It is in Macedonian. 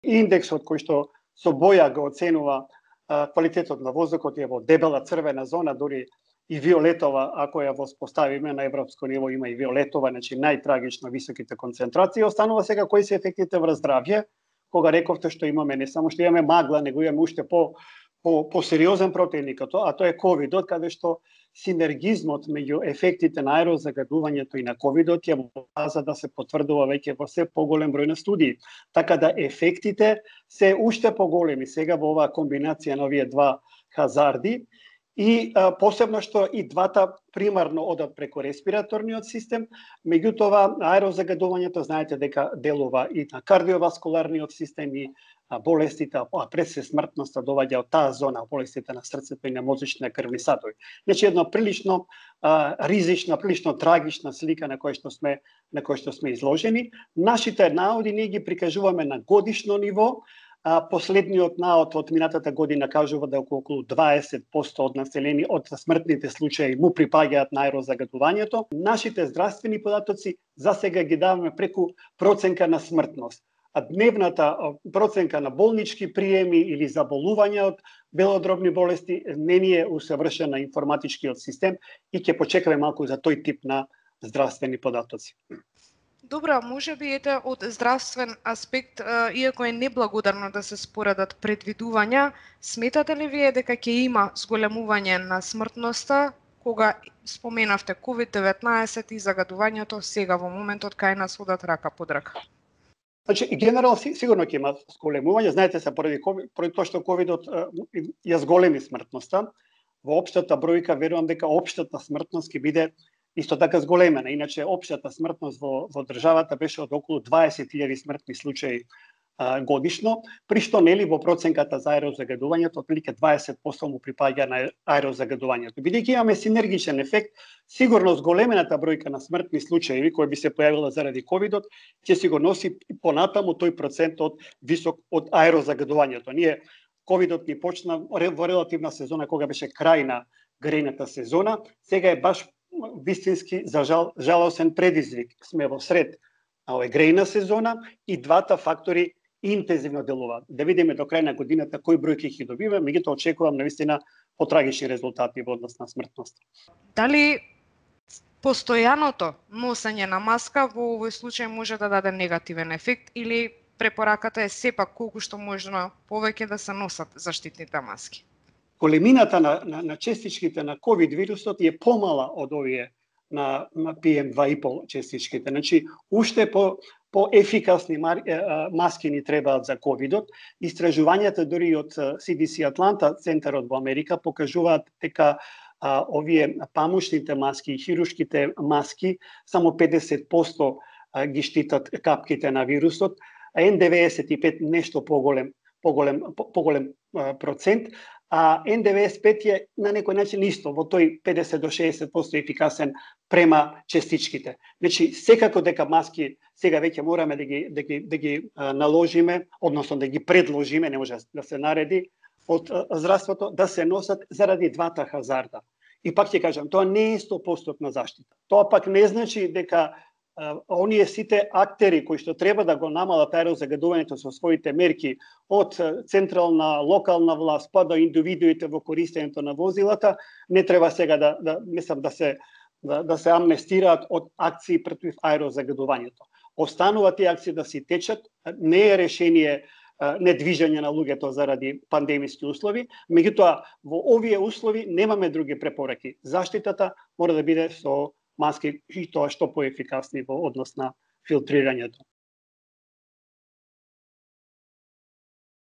Индексот кој што со боја го оценува квалитетот на воздухот е во дебела црвена зона, дури и виолетова, ако ја воспоставиме на европско ниво, има и виолетова, значи најтрагично високите концентрации. Останува сега кои се ефектите врз здравје, кога рековте што имаме не само што имаме магла, него имаме уште по-сериозен противник, а тоа е ковидот, каде што синергизмот меѓу ефектите на аерозагадувањето и на ковидот ја показа да се потврдува веќе во се поголем број на студии. Така да ефектите се уште поголеми сега во оваа комбинација на овие два хазарди. И посебно што и двата примарно одат преку респираторниот систем, меѓутоа аерозагадувањето знаете дека делува и на кардиоваскуларниот систем и болестите, а пред се смртноста доаѓа од таа зона, болестите на срцето и на мозочните крвни садови. Значи една прилично ризична, прилично трагична слика на која што сме изложени. Нашите наоди ние ги прикажуваме на годишно ниво. Последниот наод од минатата година кажува да околу 20% од смртните случаи му припаѓаат на аерозагадувањето. Нашите здравствени податоци за сега ги даваме преку проценка на смртност. А дневната проценка на болнички приеми или заболувања од белодробни болести не ни е усовршена информатичкиот систем и ќе почекаме малку за тој тип на здравствени податоци. Добро, може би од здравствен аспект, иако е неблагодарно да се споредат предвидувања, сметате ли вие дека ќе има зголемување на смртноста кога споменавте COVID-19 и загадувањето сега во моментот кај нас одат рака под рака? Значи, генерално сигурно ќе има зголемување, знаете се поради тоа што ковидот ја зголеми смртноста. Во општата бројка верувам дека општата смртност ќе биде исто така зголемена. Иначе општата смртност во државата беше од околу 20.000 смртни случаи годишно, при што нели во проценката за аерозагадувањето отприлike 20% му припаѓа на аерозагадувањето. Бидејќи имаме синергичен ефект, сигурно зголемената бројка на смртни случаи кои би се појавила заради ковидот ќе си го носи понатаму тој процент висок од аерозагадувањето. Ние ковидот ни почна во релативна сезона кога беше крај на грејната сезона, сега е баш вистински за жалосен предизвик. Сме во сред грејна сезона и двата фактори интензивно делуваат. Да видиме до крај на годината кои бројки ќе добиме, меѓутоа очекувам навистина потрагични резултати во однос на смртност. Дали постојаното носење на маска во овој случај може да даде негативен ефект или препораката е сепак колку што можно повеќе да се носат заштитните маски? Големината на частичките на COVID вирусот е помала од овие на PM2,5 частичките. Значи, уште по-ефикасни маски ни требаат за ковидот. Истражувањата дури од CDC Атланта, центарот во Америка, покажуваат дека овие памушните маски и хируршките маски само 50% ги штитат капките на вирусот, а N95 нешто поголем процент, а N95 е на некој начин исто, во тој 50 до 60% ефикасен према частичките. Значи, секако дека маски сега веќе мораме да ги наложиме, односно да ги предложиме, не може да се нареди од здравството, да се носат заради двата хазарда. И пак ќе кажам, тоа не е 100% заштита. Тоа пак не значи дека оние сите актери кои што треба да го намалат аерозагадувањето со своите мерки од централна, локална власт па до индивидуите во користењето на возилата, не треба сега да се амнестираат од акции против аерозагадувањето. Останува тие акции да си течат, не е решение недвижење на луѓето заради пандемиски услови, меѓутоа во овие услови немаме други препораки. Заштитата мора да биде со маски и тоа што поефикасни во однос на филтрирањето.